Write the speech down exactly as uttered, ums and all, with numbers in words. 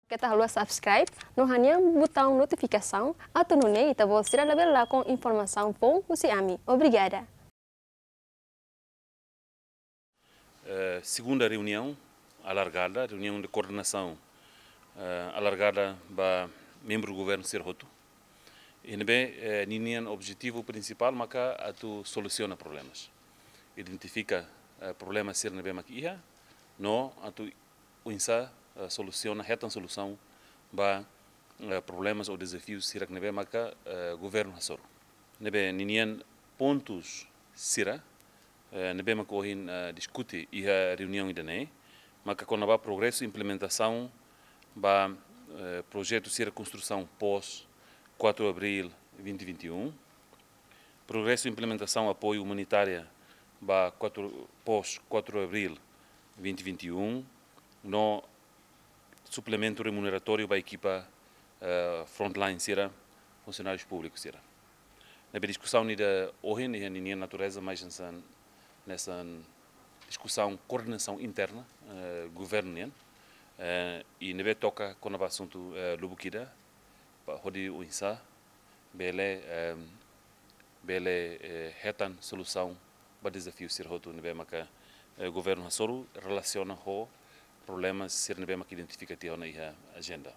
Keta haluha subscribe no hanehan butaun notifikasaun atu nune'e ita-boot sira labele lakon informasaun foun husi ami. Obrigada. Eh, segunda reuniaun alargada, reuniaun de koordenasaun, eh, alargada ba membru governu sira hotu. I ne'ebé, eh, ninian objetivu prinsipál maka atu solusiona problemas. Identifika, eh, problema sira ne'ebé mak iha, no atu oinsá, eh, solusiona, hetan solusaun ba, eh, problemas ou dezafiu sira ne'ebé maka, eh, governu hasoru. Ne'ebé ninian pontus sira, eh, ne'ebé maka ohin, eh, diskute iha reuniaun ida-ne'e, maka kona-ba progresu implementasaun ba, eh, projetu sira konstrusaun pós quatro Abril vinte vinte e um, progresu implementasaun apoiu umanitária ba quatro, pós quatro Abril vinte vinte e um, no suplementu remuneratóriu ba ekipa, eh, frontline sira, funsionárius públikus sira. Ne'ebé diskusaun ida ohin, iha ninian natureza, mais hanesan, hanesan diskusaun koordenasaun interna, eh, governu nian, eh, i ne'ebé toka kona-ba asuntu, eh, lubuk ida, ba hodi oinsá bele, eh, bele, eh, hetan solusaun ba dezafiu sira hotu ne'ebé maka, eh, governu hasoru relasiona ho problema sira ne'ebé maka identifika tiha ona iha ajenda.